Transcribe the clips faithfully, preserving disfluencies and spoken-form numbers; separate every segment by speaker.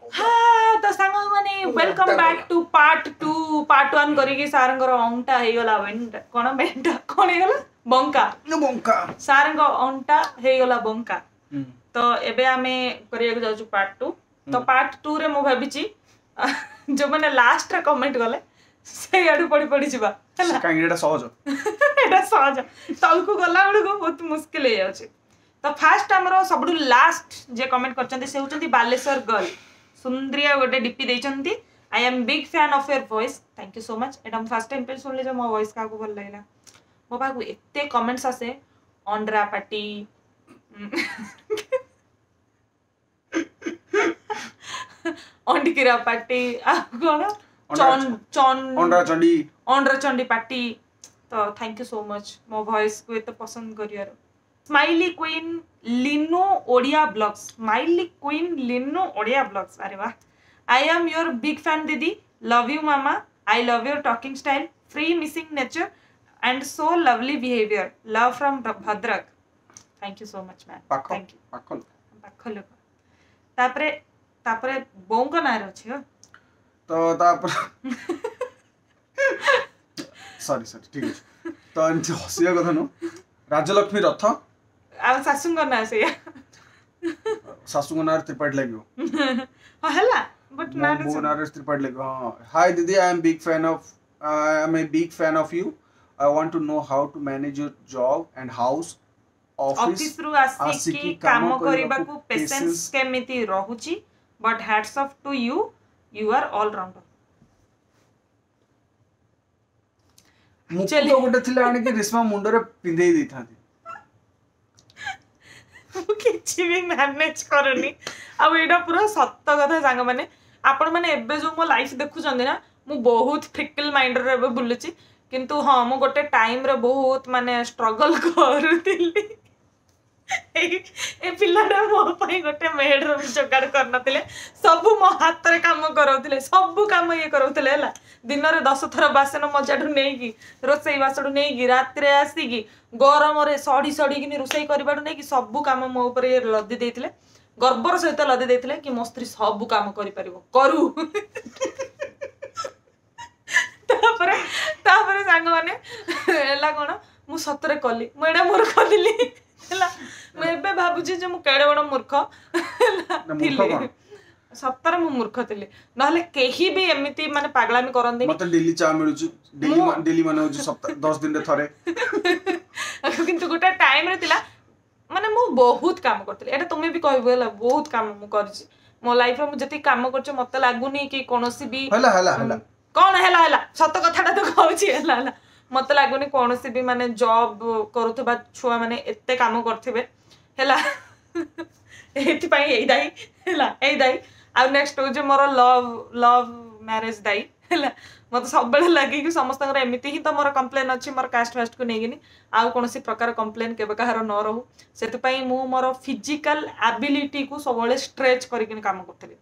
Speaker 1: ହଁ, ତ ସାଙ୍ଗମାନେ, welcome back to part two। Part one କରିକି ସାରଙ୍କର ଅଣ୍ଟା ହେଇଗଲା ବେଣ୍ଟା। କଣ ବେଣ୍ଟା? କଣ ହେଇଗଲା? ବଙ୍କା।
Speaker 2: ବଙ୍କା।
Speaker 1: ସାରଙ୍କ ଅଣ୍ଟା ହେଇଗଲା ବଙ୍କା। ତ ଏବେ ଆମେ କରିବାକୁ ଯାଉଛୁ ପାର୍ଟ ଟୁ। ତ ପାର୍ଟ ଟୁ ରେ ମୁଁ ଭାବିଛି ଯୋଉମାନେ ଲାଷ୍ଟରେ କମେଣ୍ଟ କଲେ, ସେଇଆଡୁ ପଢି ପଢି ଯିବା, ହେଲା?
Speaker 2: କାହିଁକି? ଏଇଟା ସହଜ।
Speaker 1: ଏଇଟା ସହଜ, ତଳକୁ ଗଲା ବେଳକୁ ବହୁତ ମୁସ୍କିଲ ହେଇଯାଉଛି। ତ ଫାଷ୍ଟ ଆମର ସବୁଠୁ ଲାଷ୍ଟ ଯିଏ କମେଣ୍ଟ କରିଛନ୍ତି, ସେ ହେଉଛନ୍ତି ବାଲେଶ୍ୱର ଗର୍ଲ। ସୁନ୍ଦରିଆ ଗୋଟେ ଡିପି ଦେଇଛନ୍ତି। "I am big fan of your voice." Thank you so much. ଏଇଟା ମୁଁ ଫାର୍ଷ୍ଟ ଟାଇମ୍ ପାଇଁ ଶୁଣିଲି ଯେ ମୋ ଭଏସ୍ କାହାକୁ ଭଲ ଲାଗିଲା। ମୋ ପାଖକୁ ଏତେ କମେଣ୍ଟସ୍ ଆସେ, ଅଣ୍ଡ୍ରା ପାଟି, ଅଣ୍ଡକିରା ପାଟି, ଆଉ କଣ, ଚନ୍ ଚନ୍
Speaker 2: ଅଣ୍ଡ୍ରା ଚଣ୍ଡୀ।
Speaker 1: ଅଣ୍ଡ୍ରା ଚଣ୍ଡୀ ପାଟି। ତ thank you so much ମୋ ଭଏସ୍କୁ ଏତେ ପସନ୍ଦ କରିବାରୁ। Smiley queen Linu Odia blogs, smiley queen Linu Odia blogs, ଆରେ ବାह! "I am your big fan ଦିଦି। Love you mama. I love your talking style, free missing nature and so lovely behaviour. Love from Bhadrak." Thank you so much, ma'am.
Speaker 2: ପାଖ
Speaker 1: thank you.
Speaker 2: ପାଖ ଲୋକ।
Speaker 1: ପାଖ ଲୋକ। ତାପରେ ତାପରେ ବୋଉଙ୍କ ନାଁରେ ଅଛି, ହଁ।
Speaker 2: ତ ତାପରେ, ସରି ସରି, ଠିକ ଅଛି। ତ ଏମିତି ହସିବା କଥା ନୁହଁ। ରାଜଲକ୍ଷ୍ମୀ ରଥ।
Speaker 1: ଆଉ ଶାଶୁଙ୍କ ନାଁ ସେଇଆ।
Speaker 2: ଶାଶୁଙ୍କ ନାଁରେ ତ୍ରିପାଠୀ ଲାଗିବ।
Speaker 1: ହଁ, ହେଲା, ବଟ୍
Speaker 2: ମୋ ବୋଉ ନାଁରେ ତ୍ରିପାଠୀ ଲାଗିବ, ହଁ। ହାଇ ଦିଦି, I am big fan of I am a big fan of you. I want to know how to manage your job and house, office.
Speaker 1: ଅଫିସରୁ ଆସିକି କାମ କରିବାକୁ ପେସେନ୍ସ କେମିତି ରହୁଛି? But hats off to you, you are all rounder.
Speaker 2: ମୁକୁଟ ଗୋଟେ ଥିଲା, ଆଣିକି ରେଶମା ମୁଣ୍ଡରେ ପିନ୍ଧେଇ ଦେଇଥାନ୍ତି।
Speaker 1: ମୁଁ କିଛି ବି ମ୍ୟାନେଜ କରୁନି। ଆଉ ଏଇଟା ପୁରା ସତ କଥା ସାଙ୍ଗମାନେ। ଆପଣମାନେ ଏବେ ଯୋଉ ମୋ ଲାଇଫ୍ ଦେଖୁଛନ୍ତି ନା, ମୁଁ ବହୁତ ଫିକଲ ମାଇଣ୍ଡରେ ଏବେ ବୁଲୁଛି। କିନ୍ତୁ ହଁ, ମୁଁ ଗୋଟେ ଟାଇମରେ ବହୁତ ମାନେ ଷ୍ଟ୍ରଗଲ କରୁଥିଲି। ଏଇ ଏ ପିଲାଟା ମୋ ପାଇଁ ଗୋଟେ ମେଡର ବି ଯୋଗାଡ଼ କରିନଥିଲେ। ସବୁ ମୋ ହାତରେ କାମ କରାଉଥିଲେ, ସବୁ କାମ ଇଏ କରାଉଥିଲେ, ହେଲା? ଦିନରେ ଦଶ ଥର ବାସନ ମଜାଠୁ ନେଇକି, ରୋଷେଇ ବାସଠୁ ନେଇକି, ରାତିରେ ଆସିକି ଗରମରେ ସଢି ସଢିକିନି ରୋଷେଇ କରିବାଠୁ ନେଇକି, ସବୁ କାମ ମୋ ଉପରେ ଇଏ ଲଦି ଦେଇଥିଲେ। ଗର୍ବର ସହିତ ଲଦି ଦେଇଥିଲେ କି ମୋ ସ୍ତ୍ରୀ ସବୁ କାମ କରିପାରିବ, କରୁ। ତାପରେ ତାପରେ ସାଙ୍ଗମାନେ, ହେଲା କଣ, ମୁଁ ସତରେ କଲି। ମୁଁ ଏଇଟା ମୂର୍ଖ ଥିଲି, ହେଲା? ମୁଁ ଏବେ ଭାବୁଛି ଯେ ମୁଁ କେଡ଼େ ବଡ଼ ମୂର୍ଖ ହେଲା
Speaker 2: ନା, ମୂର୍ଖ
Speaker 1: ଥିଲି।
Speaker 2: କଣ?
Speaker 1: ସତରେ ମୁଁ ମୂର୍ଖ ଥିଲି, ନହେଲେ କେହି ବି ଏମିତି ମାନେ ପାଗଳାମି କରନ୍ତିନି।
Speaker 2: ମତେ ଡେଲି ଚା ମିଳୁଛି। ଡେଲି
Speaker 1: ମୁଁ-
Speaker 2: ଡେଲି ମାନେ ହଉଛି ସପ୍ତାହ ଦଶ ଦିନରେ ଥରେ।
Speaker 1: କିନ୍ତୁ ଗୋଟେ ଟାଇମରେ ଥିଲା, ମାନେ ମୁଁ ବହୁତ କାମ କରିଥିଲି। ଏଇଟା ତୁମେ ବି କହିବ, ହେଲା? ବହୁତ କାମ ମୁଁ କରିଛି ମୋ ଲାଇଫରେ। ମୁଁ ଯେତିକି କାମ କରିଛି, ମତେ ଲାଗୁନି କି କୌଣସି ବି
Speaker 2: ହେଲା, ହେଲା, ହେଲା।
Speaker 1: କଣ ହେଲା ହେଲା? ସତ କଥାଟା ତ କହୁଛି। ହେଲା, ହେଲା। ମତେ ଲାଗୁନି କୌଣସି ବି ମାନେ ଜବ୍ କରୁଥିବା ଛୁଆ ମାନେ ଏତେ କାମ କରିଥିବେ, ହେଲା? ଏଇଥିପାଇଁ ଏଇ ଦାୟୀ, ହେଲା, ଏଇ ଦାୟୀ। ଆଉ ନେକ୍ସଟ ହଉଛି ମୋର ଲଭ୍ ଲଭ୍ ମ୍ୟାରେଜ ଦାୟୀ, ହେଲା? ମତେ ସବୁବେଳେ ଲାଗେ କି ସମସ୍ତଙ୍କର ଏମିତି ହିଁ ତ ମୋର କମ୍ପ୍ଲେନ୍ ଅଛି ମୋର କାଷ୍ଟ ଫାଷ୍ଟକୁ ନେଇକିନି। ଆଉ କୌଣସି ପ୍ରକାର କମ୍ପ୍ଲେନ୍ କେବେ କାହାର ନ ରହୁ। ସେଥିପାଇଁ ମୁଁ ମୋର ଫିଜିକାଲ ଆବିଲିଟିକୁ ସବୁବେଳେ ଷ୍ଟ୍ରେଚ୍ କରିକିନି କାମ କରୁଥିଲି।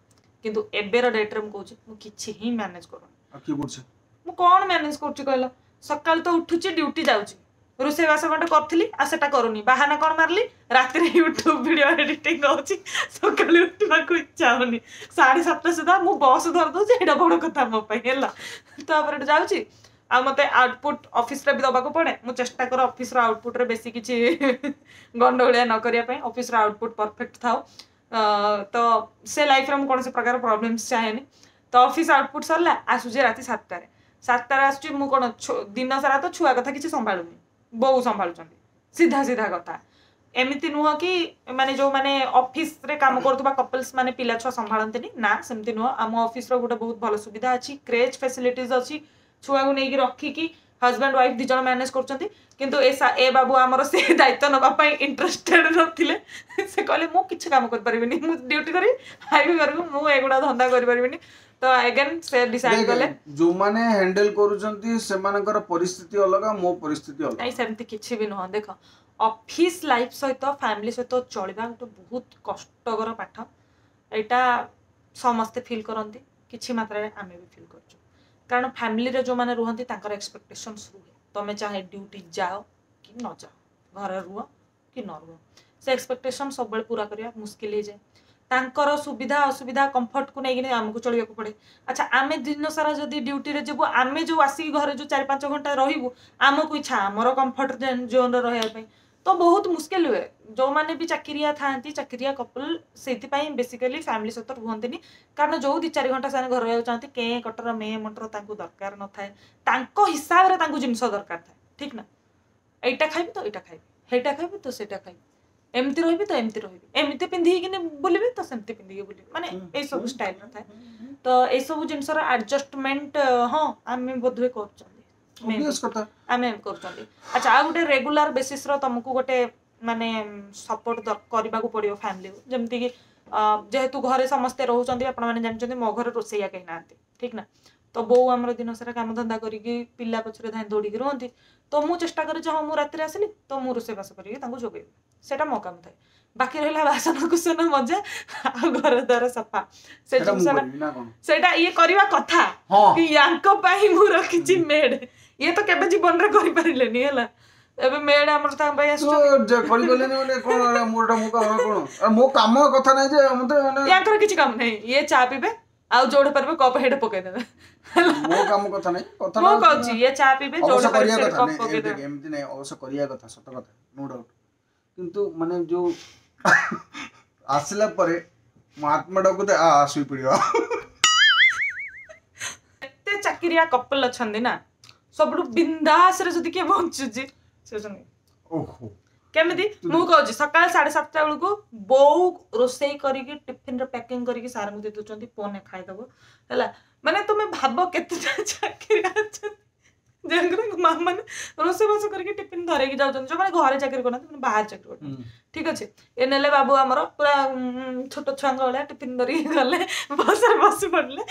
Speaker 1: କିନ୍ତୁ ଏବେର ଡେଟ୍ରେ ମୁଁ କହୁଛି, ମୁଁ କିଛି ହିଁ ମ୍ୟାନେଜ କରୁନି।
Speaker 2: ଆଉ କିଏ କରୁଛି?
Speaker 1: ମୁଁ କଣ ମ୍ୟାନେଜ କରୁଛି କହିଲ? ସକାଳୁ ତ ଉଠୁଛି, ଡ୍ୟୁଟି ଯାଉଛି। ରୋଷେଇ ବାସ ଖଣ୍ଡେ କରିଥିଲି, ଆଉ ସେଟା କରୁନି। ବାହାନା କଣ ମାରିଲି? ରାତିରେ ୟୁଟ୍ୟୁବ ଭିଡିଓ ଏଡିଟିଂ ହଉଛି, ସକାଳୁ ଉଠିବାକୁ ଇଚ୍ଛା ହଉନି। ସାଢେ ସାତଟା ସୁଦ୍ଧା ମୁଁ ବସ୍ ଧରି ଦଉଛି, ଏଇଟା ବଡ କଥା ମୋ ପାଇଁ, ହେଲା? ତାପରେ ଏଠୁ ଯାଉଛି। ଆଉ ମତେ ଆଉଟପୁଟ୍ ଅଫିସରେ ବି ଦବାକୁ ପଡେ। ମୁଁ ଚେଷ୍ଟା କରେ ଅଫିସର ଆଉଟପୁଟରେ ବେଶୀ କିଛି ଗଣ୍ଡଗୋଳିଆ ନ କରିବା ପାଇଁ, ଅଫିସର ଆଉଟପୁଟ୍ ପରଫେକ୍ଟ ଥାଉ। ଅ, ତ ସେ ଲାଇଫରେ ମୁଁ କୌଣସି ପ୍ରକାର ପ୍ରୋବ୍ଲେମ୍ସ ଚାହେଁନି। ତ ଅଫିସ ଆଉଟପୁଟ୍ ସରିଲା, ଆସୁଛି ରାତି ସାତଟାରେ। ସାତଟାରେ ଆସୁଛି, ମୁଁ କଣ ଛୁ- ଦିନ ସାରା ତ ଛୁଆ କଥା କିଛି ସମ୍ଭାଳୁନି, ବୋଉ ସମ୍ଭାଳୁଛନ୍ତି। ସିଧା ସିଧା କଥା, ଏମିତି ନୁହଁ କି ମାନେ ଯୋଉମାନେ ଅଫିସରେ କାମ କରୁଥିବା କପଲ୍ସ ମାନେ ପିଲା ଛୁଆ ସମ୍ଭାଳନ୍ତିନି। ନା, ସେମିତି ନୁହଁ। ଆମ ଅଫିସର ଗୋଟେ ବହୁତ ଭଲ ସୁବିଧା ଅଛି, କ୍ରେଚ୍ ଫେସିଲିଟିଜ ଅଛି। ଛୁଆକୁ ନେଇକି ରଖିକି ହଜବେଣ୍ଡ ୱାଇଫ ଦି ଜଣ ମ୍ୟାନେଜ କରୁଛନ୍ତି। କିନ୍ତୁ ଏ ସା- ଏ ବାବୁ ଆମର ସେ ଦାୟିତ୍ୱ ନେବା ପାଇଁ ଇଣ୍ଟରେଷ୍ଟେଡ ନଥିଲେ। ସେ କହିଲେ, ମୁଁ କିଛି କାମ କରିପାରିବିନି, ମୁଁ ଡ୍ୟୁଟି କରିବି, ଖାଇବି କରିବି, ମୁଁ ଏଗୁଡ଼ା ଧନ୍ଦା କରିପାରିବିନି। ତ ଏଗେନ୍ ସେ ଡିସାଇଡ୍ କଲେ।
Speaker 2: ଯୋଉମାନେ ହ୍ୟାଣ୍ଡେଲ କରୁଛନ୍ତି, ସେମାନଙ୍କର ପରିସ୍ଥିତି ଅଲଗା, ମୋ ପରିସ୍ଥିତି ଅଲଗା।
Speaker 1: ନାଇଁ, ସେମିତି କିଛି ବି ନୁହଁ। ଦେଖ, ଅଫିସ ଲାଇଫ ସହିତ ଫ୍ୟାମିଲି ସହିତ ଚଳିବା ଗୋଟେ ବହୁତ କଷ୍ଟକର ପାଠ। ଏଇଟା ସମସ୍ତେ ଫିଲ୍ କରନ୍ତି, କିଛି ମାତ୍ରାରେ ଆମେ ବି ଫିଲ୍ କରୁଛୁ। କାରଣ ଫ୍ୟାମିଲିରେ ଯୋଉମାନେ ରୁହନ୍ତି, ତାଙ୍କର ଏକ୍ସପେକ୍ଟେସନ୍ସ ରୁହେ। ତମେ ଚାହେ ଡ୍ୟୁଟି ଯାଅ କି ନ ଯାଅ, ଘରେ ରୁହ କି ନ ରୁହ, ସେ ଏକ୍ସପେକ୍ଟେସନ୍ ସବୁବେଳେ ପୁରା କରିବା ମୁସ୍କିଲ ହେଇଯାଏ। ତାଙ୍କର ସୁବିଧା ଅସୁବିଧା କମ୍ଫର୍ଟକୁ ନେଇକିନି ଆମକୁ ଚଳିବାକୁ ପଡ଼େ। ଆଚ୍ଛା, ଆମେ ଦିନ ସାରା ଯଦି ଡ୍ୟୁଟିରେ ଯିବୁ, ଆମେ ଯୋଉ ଆସିକି ଘରେ ଯୋଉ ଚାରି ପାଞ୍ଚ ଘଣ୍ଟା ରହିବୁ, ଆମକୁ ଇଚ୍ଛା ଆମର କମ୍ଫର୍ଟ ଜୋନରେ ରହିବା ପାଇଁ। ତ ବହୁତ ମୁସ୍କିଲ ହୁଏ। ଯୋଉମାନେ ବି ଚାକିରିଆ ଥାଆନ୍ତି, ଚାକିରିଆ କପଲ, ସେଇଥିପାଇଁ ବେସିକାଲି ଫ୍ୟାମିଲି ସହିତ ରୁହନ୍ତିନି। କାରଣ ଯୋଉ ଦି ଚାରି ଘଣ୍ଟା ସେମାନେ ଘରେ ରହିବାକୁ ଚାହାନ୍ତି, କେଁ କଟର ମେ ମଟର ତାଙ୍କୁ ଦରକାର ନଥାଏ। ତାଙ୍କ ହିସାବରେ ତାଙ୍କୁ ଜିନିଷ ଦରକାର ଥାଏ, ଠିକ ନା? ଏଇଟା ଖାଇବି ତ ଏଇଟା ଖାଇବି, ହେଇଟା ଖାଇବି ତ ସେଇଟା ଖାଇବି, ଏମିତି ରହିବି ତ ଏମିତି ରହିବି, ଏମିତି ପିନ୍ଧିକିନି ବୁଲିବି ତ ସେମିତି ପିନ୍ଧିକି ବୁଲିବି, ମାନେ ଏଇସବୁ ଷ୍ଟାଇଲର ଥାଏ। ତ ଏଇସବୁ ଜିନିଷର ଆଡଜଷ୍ଟମେଣ୍ଟ ହଁ ଆମେ ବୋଧହୁଏ କରୁଛନ୍ତି। Maybe।
Speaker 2: Obvious କଥା।
Speaker 1: ଆମେ କରୁଛନ୍ତି। ଆଚ୍ଛା, ଆଉ ଗୋଟେ ରେଗୁଲାର ବେସିସର ତମକୁ ଗୋଟେ ମାନେ ସପୋର୍ଟ କରିବାକୁ ପଡିବ ଫ୍ୟାମିଲିକୁ। ଯେମିତିକି ଅ, ଯେହେତୁ ଘରେ ସମସ୍ତେ ରହୁଛନ୍ତି, ଆପଣମାନେ ଜାଣିଛନ୍ତି ମୋ ଘରେ ରୋଷେଇଆ କେହି ନାହାନ୍ତି, ଠିକ ନା? ତ ବୋଉ ଆମର ଦିନ ସାରା କାମଧନ୍ଦା କରିକି ପିଲା ପଛରେ ଧାଇଁ ଦୌଡ଼ିକି ରୁହନ୍ତି। ତ ମୁଁ ଚେଷ୍ଟା କରେ ଯେ ହଁ, ମୁଁ ରାତିରେ ଆସିଲି ତ ମୁଁ ରୋଷେଇବାସ କରିକି ତାଙ୍କୁ ଯୋଗେଇବି, ସେଇଟା ମୋ କାମ ଥାଏ। ବାକି ରହିଲା ବାସନ କୁସନ ମଜା ଆଉ ଘର ଦ୍ୱାର ସଫା, ସେ
Speaker 2: ସେଟା ମୁଁ
Speaker 1: ଜିନିଷଟା
Speaker 2: କରିବି ନା କଣ?
Speaker 1: ସେଇଟା ଇଏ କରିବା କଥା
Speaker 2: ହଁ
Speaker 1: କି ୟାଙ୍କ ପାଇଁ ମୁଁ ରଖିଛି ମେଡ୍। ଇଏ ତ କେବେ ଜୀବନରେ କରିପାରିଲେନି, ହେଲା, ଏବେ ମେଡ୍ ଆମର ତାଙ୍କ ପାଇଁ
Speaker 2: ତୁ
Speaker 1: ଆସୁଛନ୍ତି।
Speaker 2: ଯେ କରିପାରିଲିନି ମାନେ କଣ? ଏଇଟା ମୋର ମୋ କାମ କଣ? ଆରେ ମୋ କାମ କଥା ନାହିଁ ଯେ ମତେ ମାନେ
Speaker 1: ୟାଙ୍କର କିଛି କାମ ନାହିଁ। ଇଏ ଚା ପିଇବେ ଆଉ ଯୋଉଠି ପାରିବେ କପ୍ ହେଇଠି ପକେଇଦେବେ, ହେଲା।
Speaker 2: ମୋ କାମ କଥା ନାହିଁ, କଥା
Speaker 1: ମୁଁ କହୁଛି, ଇଏ ଚା ପିଇବେ,
Speaker 2: ଅବଶ୍ୟ
Speaker 1: ଯୋଉଠି ପାରିବେ
Speaker 2: କରିବା
Speaker 1: ସେଇଠି
Speaker 2: କଥା
Speaker 1: କପ୍
Speaker 2: ନାଇଁ,
Speaker 1: ପକେଇଦେବେ।
Speaker 2: ଏମିତି ଏମିତି ନାଇଁ, ଅବଶ୍ୟ କରିବା କଥା, ସତ କଥା, ନୋ ଡାଉଟ। କିନ୍ତୁ ମାନେ ଯୋଉ ଆସିଲା ପରେ ମୋ ଆତ୍ମା ଡାକୁଥାଏ, ଆ ଆ, ଶୋଇପଡିବା।
Speaker 1: ଏତେ ଚାକିରିଆ କପଲ ଅଛନ୍ତି ନା, ସବୁଠୁ ବିନ୍ଦାସରେ ଯଦି କିଏ ବଞ୍ଚୁଛି ସେ ହଉଛନ୍ତି।
Speaker 2: ଓହୋ।
Speaker 1: କେମିତି ମୁଁ କହୁଛି, ସକାଳ ସାଢେ ସାତଟା ବେଳକୁ ବୋଉ ରୋଷେଇ କରିକି ଟିଫିନରେ ପ୍ୟାକିଂ କରିକି ସାରଙ୍କୁ ଦେଇ ଦଉଛନ୍ତି, ପୁଅ ଖାଇଦବ, ହେଲା। ମାନେ ତୁମେ ଭାବ କେତେଟା ଚାକିରିଆ ଅଛନ୍ତି ଯାହାଙ୍କର ମା ମାନେ ରୋଷେଇବାସ କରିକି ଟିଫିନ ଧରେଇକି ଯାଉଛନ୍ତି। ଯୋଉମାନେ ଘରେ ଚାକିରି କରୁନାହାନ୍ତି, ମାନେ ବାହାରେ ଚାକିରି କରୁଛନ୍ତି, ଠିକ ଅଛି। ଏ ନେଲେ ବାବୁ ଆମର ପୁରା ଉଁ, ଛୋଟ ଛୁଆଙ୍କ ଭଳିଆ ଟିଫିନ ଧରିକି ଗଲେ, ବସରେ ବସି ପଡିଲେ,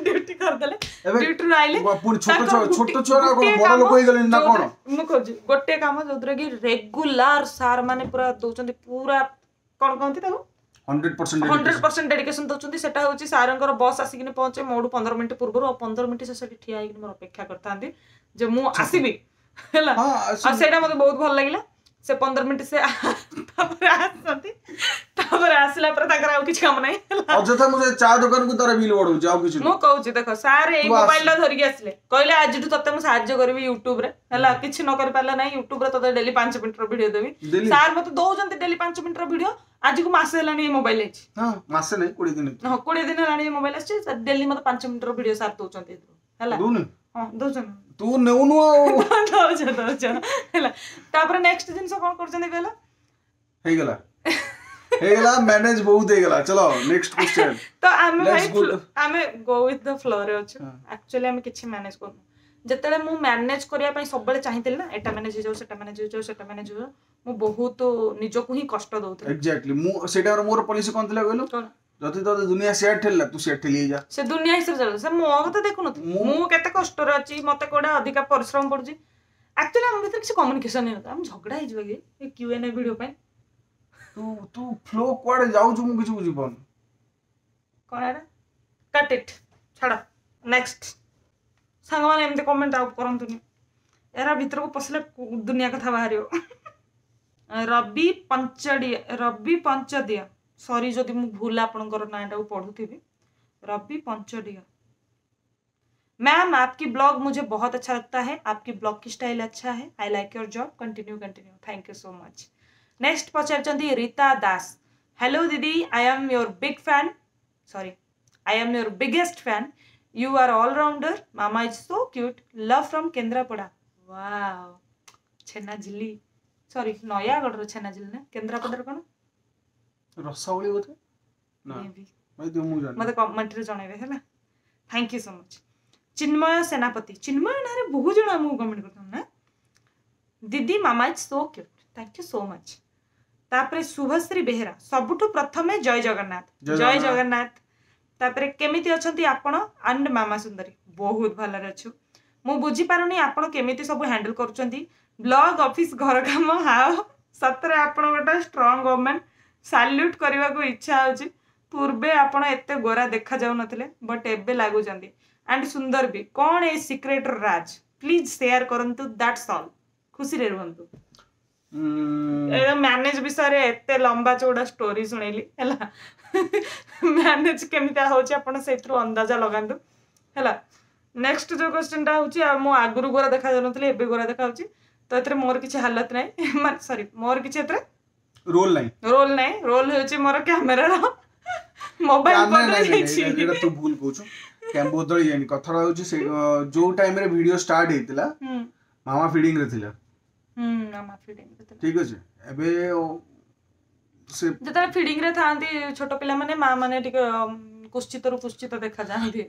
Speaker 1: ଡ୍ୟୁଟି କରିଦେଲେ,
Speaker 2: ଏବେ
Speaker 1: ଡ୍ୟୁଟିରୁ ଆଇଲେ।
Speaker 2: ପୁଣି ଛୋଟ
Speaker 1: ତାଙ୍କର
Speaker 2: ଛୁଆ ଛୋଟ
Speaker 1: ଗୋଟି-
Speaker 2: ଛୁଆ ନା କଣ,
Speaker 1: ଗୋଟିଏ
Speaker 2: ବଡ
Speaker 1: କାମ
Speaker 2: ଲୋକ ହେଇଗଲେଣି ନା କଣ?
Speaker 1: ଯୋଉଥିରେ- ମୁଁ କହୁଛି, ଗୋଟେ କାମ ଯୋଉଥିରେ କି ରେଗୁଲାର ସାର୍ ମାନେ ପୁରା ଦଉଛନ୍ତି, ପୁରା କଣ କହନ୍ତି ତାକୁ,
Speaker 2: hundred percent
Speaker 1: hundred percent dedication ଦଉଛନ୍ତି, ସେଟା ହଉଛି ସାରଙ୍କର ବସ୍ ଆସିକିନି ପହଞ୍ଚେ ମୋଠୁ ପନ୍ଦର ମିନିଟ୍ ପୂର୍ବରୁ। ଆଉ ପନ୍ଦର ମିନିଟ୍ ସେ ସେଠି ଠିଆ ହେଇକିନି ମୋର ଅପେକ୍ଷା କରିଥାନ୍ତି ଯେ ମୁଁ ଆସିବି, ହେଲା।
Speaker 2: ହଁ
Speaker 1: ଆଉ ସେଇଟା ମତେ ବହୁତ ଭଲ ଲାଗିଲା। ସେ ପନ୍ଦର ମିନିଟ୍ ସେ ତାପରେ ଆସନ୍ତି, ତାପରେ ଆସିଲା ପରେ ତାଙ୍କର ଆଉ କିଛି କାମ ନାହିଁ, ହେଲା।
Speaker 2: ଅଯଥା ମୁଁ ସେ ଚା ଦୋକାନକୁ ତାର ବିଲ୍ ବଢଉଛି, ଆଉ କିଛି
Speaker 1: ମୁଁ
Speaker 2: ନୁହଁ।
Speaker 1: କହୁଛି ଦେଖ, ସାର୍ ଏଇ
Speaker 2: ତୁ ଆସ।
Speaker 1: ମୋବାଇଲ ଟା ଧରିକି ଆସିଲେ, କହିଲେ ଆଜିଠୁ ତତେ ମୁଁ ସାହାଯ୍ୟ କରିବି ୟୁଟ୍ୟୁବରେ, ହେଲା। କିଛି ନ କରିପାରିଲା ନାହିଁ, ୟୁଟ୍ୟୁବରେ ତତେ ଡେଲି ପାଞ୍ଚ ମିନିଟର ଭିଡିଓ ଦେବି।
Speaker 2: ଡେଲି?
Speaker 1: ସାର୍ ମତେ ଦଉଛନ୍ତି ଡେଲି ପାଞ୍ଚ ମିନିଟର ଭିଡିଓ। ଆଜିକୁ ମାସେ ହେଲାଣି ଏଇ ମୋବାଇଲ ହେଇଛି।
Speaker 2: ହଁ, ମାସେ ନାହିଁ, କୋଡିଏ ଦିନ ହେଇଛି।
Speaker 1: ହଁ, କୋଡିଏ ଦିନ ହେଲାଣି ଏ ମୋବାଇଲ ଆସିଛି, ଡେଲି ମତେ ପାଞ୍ଚ ମିନିଟର ଭିଡିଓ ସାର୍ ଦଉଛନ୍ତି ଏଥିରୁ, ହେଲା।
Speaker 2: ଦଉନି?
Speaker 1: ହଁ, ଦଉଛନ୍ତି।
Speaker 2: ତୁ ନେଉନୁ ଆଉ।
Speaker 1: ଦଉଛ, ଦଉଛ, ହେଲା। ତାପରେ ନେକ୍ସଟ ଜିନିଷ କଣ କରୁଛନ୍ତି କହିଲ?
Speaker 2: ହେଇଗଲା, ହେଇଗଲା, ମ୍ୟାନେଜ ବହୁତ ହେଇଗଲା, ଚલો ନେକ୍ସଟ କ୍ୱେଶ୍ଚନ।
Speaker 1: ତ ଆମେ
Speaker 2: Let's
Speaker 1: ଭାଇ
Speaker 2: go to-
Speaker 1: ଆମେ ଗୋ ୱିଥ୍ the ଫ୍ଲୋରେ ଅଛୁ।
Speaker 2: ହଁ।
Speaker 1: ଆକ୍ଚୁଆଲି ଆମେ କିଛି ମ୍ୟାନେଜ କରୁନୁ। ଯେତେବେଳେ ମୁଁ ମ୍ୟାନେଜ କରିବା ପାଇଁ ସବୁବେଳେ ଚାହିଁଥିଲି ନା, ଏଟା ମ୍ୟାନେଜ ହେଇଯାଉ, ସେଟା ମ୍ୟାନେଜ ହେଇଯାଉ, ସେଟା ମ୍ୟାନେଜ ହେଇଯାଉ, ମୁଁ ବହୁତ ନିଜକୁ ହିଁ କଷ୍ଟ ଦଉଥିଲି।
Speaker 2: ଏକ୍ଜାକ୍ଟଲି, ମୁଁ ସେଇଟା ମୋର ପଲିସି କଣ ଥିଲା କହିଲୁ?
Speaker 1: କଣ?
Speaker 2: ଯଦି ତୋତେ ଦୁନିଆ ସିଆଡେ ଠେଲିଲା, ତୁ ସିଆଡେ ଠେଲି ହେଇଯା।
Speaker 1: ସେ ଦୁନିଆ ହିସାବରେ ଚାଲୁ, ସେ ମୋ କଥା ଦେଖୁନଥିଲି।
Speaker 2: ମୁଁ-
Speaker 1: ମୁଁ କେତେ କଷ୍ଟରେ ଅଛି, ମତେ କୋଉଟା ଅଧିକା ପରିଶ୍ରମ ପଡୁଛି। ଆକ୍ଚୁଆଲି ଆମ ଭିତରେ କିଛି କମ୍ୟୁନିକେସନ ହେଇନଥିଲା। ଆମେ ଝଗଡା ହେଇଯିବ କି ଏ କ୍ୟୁ ଏନ୍ ଏ ଭିଡିଓ ପାଇଁ?
Speaker 2: ତୁ ତୁ ଫ୍ଲୋ କୁଆଡେ ଯାଉଛୁ ମୁଁ କିଛି ବୁଝିପାରୁନି।
Speaker 1: କଣ ଏଟା? କଟ୍ ଇଟ୍, ଛାଡ଼, ନେକ୍ସଟ। ସାଙ୍ଗମାନେ, ଏମିତି କମେଣ୍ଟ ଆଉ କରନ୍ତୁନି, ଏରା ଭିତରକୁ ପଶିଲେ କୁ- ଦୁନିଆ କଥା ବାହାରିବ। ରବି ପଞ୍ଚଡିଆ, ରବି ପଞ୍ଚଦିଆ, ସରି ଯଦି ମୁଁ ଭୁଲ ଆପଣଙ୍କର ନାଁଟାକୁ ପଢୁଥିବି। ରବି ପଞ୍ଚଡିଆ मैम, आपकी ब्लॉग मुझे बहुत अच्छा लगता है, आपकी ब्लॉग की स्टाइल अच्छा है, I like your job, continue continue। Thank you so much। Next ପଚାରିଛନ୍ତି ରୀତା ଦାସ, ହ୍ୟାଲୋ ଦିଦି, I am your big fan, sorry, I am your biggest fan, you are all-rounder, mama is so cute, love from Kendrapara। Wow, chhena jhili, ସରି, ନୟାଗଡ଼ର ଛେନାଝିଲି ନା କେନ୍ଦ୍ରାପଡ଼ାର କଣ?
Speaker 2: ରସାବଳି ବୋଧେ ନା?
Speaker 1: Maybe।
Speaker 2: ଭାଇ ତୁ, ମୁଁ ଜାଣିନି।
Speaker 1: ମତେ କମେଣ୍ଟରେ ଜଣେଇବେ, ହେଲା। Thank you so much। Chinmay Senapati, Chinmay ନାଁରେ ବହୁତ ଜଣ ଆମକୁ କମେଣ୍ଟ କରୁଛନ୍ତି ନା। ଦିଦି, mama is so cute। Thank you so much। ତାପରେ ଶୁଭଶ୍ରୀ ବେହେରା, ସବୁଠୁ ପ୍ରଥମେ ଜୟ ଜଗନ୍ନାଥ।
Speaker 2: ଜୟ
Speaker 1: ଜୟ
Speaker 2: ଜଗନ୍ନାଥ।
Speaker 1: ଜଗନ୍ନାଥ। ତାପରେ କେମିତି ଅଛନ୍ତି ଆପଣ ଆଣ୍ଡ ମାମା ସୁନ୍ଦରୀ? ବହୁତ ଭଲରେ ଅଛୁ। ମୁଁ ବୁଝିପାରୁନି ଆପଣ କେମିତି ସବୁ ହ୍ୟାଣ୍ଡେଲ କରୁଛନ୍ତି, ବ୍ଲଗ, ଅଫିସ, ଘର କାମ, ହାଓ? ସତରେ ଆପଣ ଗୋଟେ ଷ୍ଟ୍ରଙ୍ଗ ଓମେନ୍, ସାଲ୍ୟୁଟ୍ କରିବାକୁ ଇଚ୍ଛା ହଉଛି। ପୂର୍ବେ ଆପଣ ଏତେ ଗୋରା ଦେଖାଯାଉନଥିଲେ, ବଟ୍ ଏବେ ଲାଗୁଛନ୍ତି ଆଣ୍ଡ ସୁନ୍ଦର ବି। କ'ଣ ଏ ସିକ୍ରେଟର ରାଜ? ପ୍ଲିଜ୍ ସେୟାର କରନ୍ତୁ। That's all, ଖୁସିରେ ରୁହନ୍ତୁ। ମ୍ୟାନେଜ ବିଷୟରେ ଏତେ ଲମ୍ବା ଚଉଡ଼ା ଷ୍ଟୋରି ଶୁଣେଇଲି ହେଲା ମ୍ୟାନେଜ କେମିତିଆ ହଉଛି ଆପଣ ସେଇଥିରୁ ଅନ୍ଦାଜା ଲଗାନ୍ତୁ ହେଲା ନେକ୍ସଟ ଯୋଉ କ୍ୱେଶ୍ଚନଟା ହଉଛି ଆଉ ମୁଁ ଆଗରୁ ଗୋରା ଦେଖାଯାଉନଥିଲି ଏବେ ଗୋରା ଦେଖାଯାଉଛି ତ ଏଥିରେ ମୋର କିଛି ହାଲତ ନାହିଁ ମାନେ ସରି ମୋର କିଛି ଏଥିରେ
Speaker 2: ରୋଲ ନାହିଁ
Speaker 1: ରୋଲ ନାହିଁ ରୋଲ ହେଉଛି ମୋର କ୍ୟାମେରାର ମୋବାଇଲ
Speaker 2: କ୍ୟାମେରା
Speaker 1: ବଦଳି
Speaker 2: ନାଇଁ ନାଇଁ
Speaker 1: ଯାଇଛି
Speaker 2: ଏଇଟା ତୁ ଭୁଲ କହୁଛୁ କ୍ୟାମ ବଦଳି ଯାଇନି କଥାଟା ହଉଛି ସେ ଯୋଉ ଟାଇମରେ ଭିଡିଓ ଷ୍ଟାର୍ଟ ହେଇଥିଲା
Speaker 1: ହୁଁ
Speaker 2: ମାମା ଫିଡିଂ ରେ ଥିଲା
Speaker 1: ହୁଁ ମାମା ଫିଡିଂ ରେ ଥିଲା
Speaker 2: ଠିକ ଅଛି ଏବେ ସେ
Speaker 1: ଯେତେବେଳେ ଫିଡିଂ ରେ ଥାଆନ୍ତି ଛୋଟ ପିଲାମାନେ ମା ମାନେ ଟିକେ ଅମ୍, କୁତ୍ସିତରୁ କୁତ୍ସିତ ଦେଖାଯାଆନ୍ତି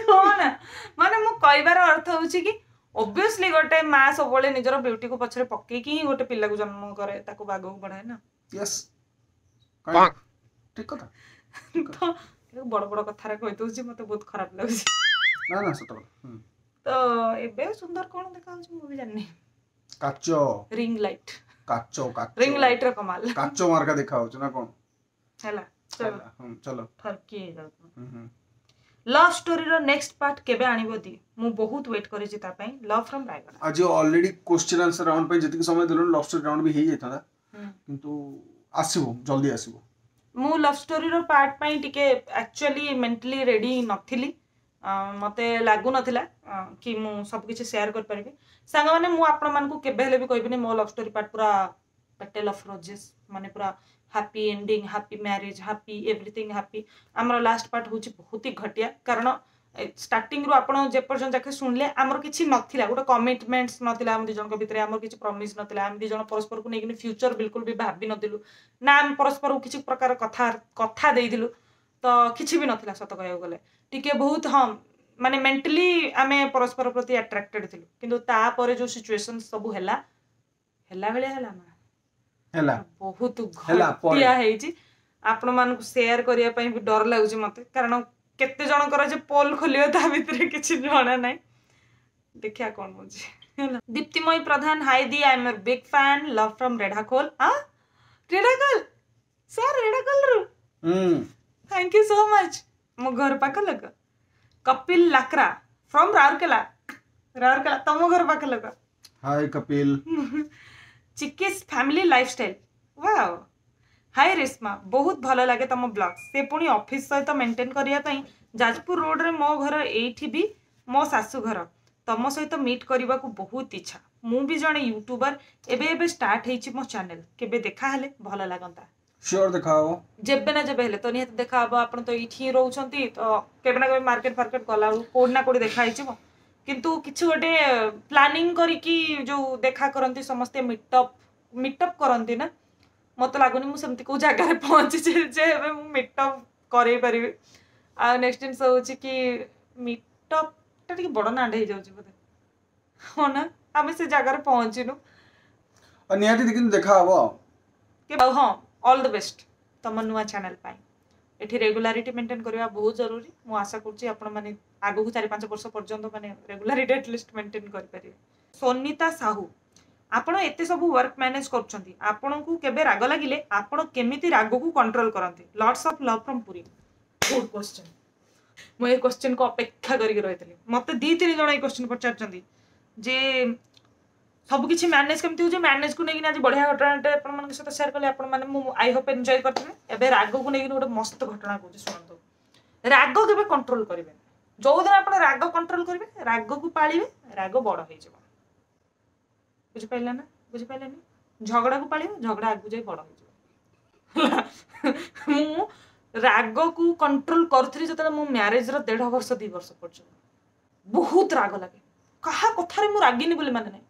Speaker 1: କଣ ମାନେ ମୁଁ କହିବାର ଅର୍ଥ ହଉଛି କି ଅବଭିୟସଲି ଗୋଟେ ମା ସବୁବେଳେ ନିଜର ବ୍ୟୁଟିକୁ ପଛରେ ପକେଇକି ହିଁ ଗୋଟେ ପିଲାକୁ ଜନ୍ମ କରେ ତାକୁ ଆଗକୁ ବଢାଏ ନା
Speaker 2: ୟେସ୍ ଠିକ କଥା
Speaker 1: ତ ବଡ ବଡ କଥାରେ କହିଦଉଛି ମତେ ବହୁତ ଖରାପ ଲାଗୁଛି
Speaker 2: ନା ନା ସତ କଥା ହୁଁ।
Speaker 1: ତ ଏବେ ସୁନ୍ଦର କଣ ଦେଖାଯାଉଛି ମୁଁ ବି ଜାଣିନି
Speaker 2: କାଚ
Speaker 1: ରିଙ୍ଗ ଲାଇଟ୍
Speaker 2: କାଚ କାଚ
Speaker 1: ରିଙ୍ଗ ଲାଇଟ୍ ର କମାଲ
Speaker 2: କାଚ ମାର୍କା ଦେଖା ହଉଛି ନା କଣ
Speaker 1: ହେଲା ଚલો
Speaker 2: ହେଲା, ହୁଁ, ଚଲ
Speaker 1: ଠରକି ହେଇଯାଉଛି
Speaker 2: ହୁଁ, ହୁଁ।
Speaker 1: ଲଭ୍ ଷ୍ଟୋରିର ନେକ୍ସଟ ପାର୍ଟ କେବେ ଆଣିବ ଦି ମୁଁ ବହୁତ ୱେଟ୍ କରିଛି ତା ପାଇଁ ଲଭ୍ ଫ୍ରମ୍ ରାୟଗଡ଼ା
Speaker 2: ଆଜି ଅଲରେଡି କ୍ୱେଶ୍ଚନ ଆନ୍ସର ରାଉଣ୍ଡ ପାଇଁ ଯେତିକି ସମୟ ଦେଲୁଣି ଲଭ୍ ଷ୍ଟୋରି ରାଉଣ୍ଡ ବି ହେଇଯାଇଥାନ୍ତା କିନ୍ତୁ ଆସିବ ଜଲ୍ଦି ଆସିବ
Speaker 1: ମୁଁ ଲଭ୍ ଷ୍ଟୋରିର ପାର୍ଟ ପାଇଁ ଟିକେ ଆକ୍ଚୁଆଲି ମେଣ୍ଟାଲି ରେଡି ନଥିଲି ଅଁ, ମତେ ଲାଗୁନଥିଲା ଅଁ, କି ମୁଁ ସବୁ କିଛି ସେୟାର କରିପାରିବି ସାଙ୍ଗମାନେ ମୁଁ ଆପଣମାନଙ୍କୁ କେବେ ହେଲେ ବି କହିବିନି ମୋ ଲଭ୍ ଷ୍ଟୋରି ପାର୍ଟ ପୁରା ପେଟେଲ ଅଫ୍ ରୋଜେସ୍ ମାନେ ପୁରା happy ending happy marriage happy everything happy ଆମର ଲାଷ୍ଟ ପାର୍ଟ ହେଉଛି ବହୁତ ହି ଘଟିଆ କାରଣ ଷ୍ଟାର୍ଟିଂରୁ ଆପଣ ଯେପର୍ଯ୍ୟନ୍ତ ଯାକେ ଶୁଣିଲେ ଆମର କିଛି ନଥିଲା ଗୋଟେ କମିଟମେଣ୍ଟସ୍ ନଥିଲା ଆମ ଦୁଇ ଜଣଙ୍କ ଭିତରେ ଆମର କିଛି ପ୍ରମିସ୍ ନଥିଲା ଆମେ ଦୁଇ ଜଣ ପରସ୍ପରକୁ ନେଇକିନି ଫ୍ୟୁଚର ବିଲକୁଲ ବି ଭାବି ନଥିଲୁ ନା ଆମେ ପରସ୍ପରକୁ କିଛି ପ୍ରକାର କଥା କଥା ଦେଇଥିଲୁ ତ କିଛି ବି ନଥିଲା ସତ କହିବାକୁ ଗଲେ ଟିକେ ବହୁତ ହଁ ମାନେ ମେଣ୍ଟାଲି ଆମେ ପରସ୍ପର ପ୍ରତି ଆଟ୍ରାକ୍ଟେଡ୍ ଥିଲୁ କିନ୍ତୁ ତାପରେ ଯୋଉ ସିଚୁଏସନ୍ ସବୁ ହେଲା ହେଲା ଭଳିଆ ହେଲା ନା
Speaker 2: ହେଲା
Speaker 1: ବହୁତ
Speaker 2: ହେଲା ପରେ।
Speaker 1: ଘଟିଆ ହେଇଛି ଆପଣମାନଙ୍କୁ ସେୟାର କରିବା ପାଇଁ ବି ଡର ଲାଗୁଛି ମତେ କାରଣ କେତେ ଜଣଙ୍କର ଯେ ପୋଲ ଖୋଲିବ ତା ଭିତରେ କିଛି ଜଣା ନାହିଁ ଦେଖିବା କଣ ହଉଛି ହେଲା Diptimayee Pradhan hi the I am your big fan love from Redhakhol ଆ ରେଢାଖୋଲ ସାର୍ ରେଢାଖୋଲରୁ
Speaker 2: ହୁଁ
Speaker 1: thank you so much ମୋ ଘର ପାଖ ଲୋକ କପିଲ ଲାକ୍ରା ଫ୍ରମ୍ ରାଉରକେଲା ରାଉରକେଲା ତମ ଘର ପାଖ ଲୋକ
Speaker 2: ହାଇ କପିଲ
Speaker 1: ଚିକିସ୍ family lifestyle wow hi Reshma ବହୁତ ଭଲ ଲାଗେ ତମ ବ୍ଲଗ ସେ ପୁଣି ଅଫିସ ସହିତ ମେଣ୍ଟେନ୍ କରିବା ପାଇଁ ଯାଜପୁର ରୋଡରେ ମୋ ଘର ଏଇଠି ବି ମୋ ଶାଶୁ ଘର ତମ ସହିତ ମିଟ୍ କରିବାକୁ ବହୁତ ଇଚ୍ଛା ମୁଁ ବି ଜଣେ ୟୁଟ୍ୟୁବର ଏବେ ଏବେ ଷ୍ଟାର୍ଟ ହେଇଛି ମୋ ଚ୍ୟାନେଲ କେବେ ଦେଖା ହେଲେ ଭଲ ଲାଗନ୍ତା
Speaker 2: ସିଓର ଦେଖା ହବ
Speaker 1: ଯେବେ ନା ଯେବେ ହେଲେ ତ ନିହାତି ଦେଖା ହବ ଆପଣ ତ ଏଇଠି ହିଁ ରହୁଛନ୍ତି ତ କେବେ ନା କେବେ ମାର୍କେଟ ଫାର୍କେଟ ଗଲା ବେଳକୁ କୋଉଠି ନା କୋଉଠି ଦେଖା ହେଇଯିବ କିନ୍ତୁ କିଛି ଗୋଟେ ପ୍ଲାନିଂ କରିକି ଯୋଉ ଦେଖା କରନ୍ତି ସମସ୍ତେ ମିଟଅପ୍ ମିଟଅପ୍ କରନ୍ତି ନା ମତେ ଲାଗୁନି ମୁଁ ସେମିତି କୋଉ ଜାଗାରେ ପହଞ୍ଚିଛି ଯେ ଏବେ ମୁଁ ମିଟଅପ୍ କରେଇ ପାରିବି ଆଉ ନେକ୍ସଟ ଜିନିଷ ହଉଛି କି ମିଟଅପ୍ ଟା ଟିକେ ବଡ ନାଁଟେ ହେଇଯାଉଛି ବୋଧେ ହଁ ନା ଆମେ ସେ ଜାଗାରେ ପହଞ୍ଚିନୁ
Speaker 2: ଆଉ ନିହାତି କିନ୍ତୁ ଦେଖା ହବ ଆଉ
Speaker 1: କି ଆଉ ହଁ ଅଲ୍ the best ତମ ନୂଆ ଚ୍ୟାନେଲ ପାଇଁ ଏଠି ରେଗୁଲାରିଟି ମେଣ୍ଟେନ୍ କରିବା ବହୁତ ଜରୁରୀ ମୁଁ ଆଶା କରୁଛି ଆପଣମାନେ ଆଗକୁ ଚାରି ପାଞ୍ଚ ବର୍ଷ ପର୍ଯ୍ୟନ୍ତ ମାନେ ରେଗୁଲାରିଟି ଆଟଲିଷ୍ଟ ମେଣ୍ଟେନ୍ କରିପାରିବେ ସୋନିତା ସାହୁ ଆପଣ ଏତେ ସବୁ ୱାର୍କ ମ୍ୟାନେଜ କରୁଛନ୍ତି ଆପଣଙ୍କୁ କେବେ ରାଗ ଲାଗିଲେ ଆପଣ କେମିତି ରାଗକୁ କଣ୍ଟ୍ରୋଲ କରନ୍ତି lots of love from Puri good question ମୁଁ ଏ କ୍ୱେଶ୍ଚନକୁ ଅପେକ୍ଷା କରିକି ରହିଥିଲି ମତେ ଦି ତିନି ଜଣ ଏଇ କ୍ୱେଶ୍ଚନ ପଚାରିଛନ୍ତି ଯେ ସବୁ କିଛି ମ୍ୟାନେଜ କେମିତି ହଉଛି ମ୍ୟାନେଜକୁ ନେଇକିନା ଆଜି ବଢିଆ ଘଟଣାଟେ ଆପଣମାନଙ୍କ ସହିତ ସେୟାର କଲି ଆପଣମାନେ ମୁଁ I Hope enjoy କରିଥିବେ ଏବେ ରାଗକୁ ନେଇକିନି ଗୋଟେ ମସ୍ତ ଘଟଣା କହୁଛି ଶୁଣନ୍ତୁ ରାଗ କେବେ କଣ୍ଟ୍ରୋଲ କରିବେନି ଯୋଉଦିନ ଆପଣ ରାଗ କଣ୍ଟ୍ରୋଲ କରିବେ ରାଗକୁ ପାଳିବେ ରାଗ ବଡ ହେଇଯିବ ବୁଝିପାରିଲେ ନା ବୁଝିପାରିଲେନି ଝଗଡାକୁ ପାଳିବ ଝଗଡା ଆଗକୁ ଯାଇ ବଡ ହେଇଯିବ ହେଲା ମୁଁ ରାଗକୁ କଣ୍ଟ୍ରୋଲ କରୁଥିଲି ଯେତେବେଳେ ମୋ ମ୍ୟାରେଜର ଦେଢ ବର୍ଷ ଦି ବର୍ଷ ପର୍ଯ୍ୟନ୍ତ ବହୁତ ରାଗ ଲାଗେ କାହା କଥାରେ ମୁଁ ରାଗିନି ବୋଲି ମାନେ ନାହିଁ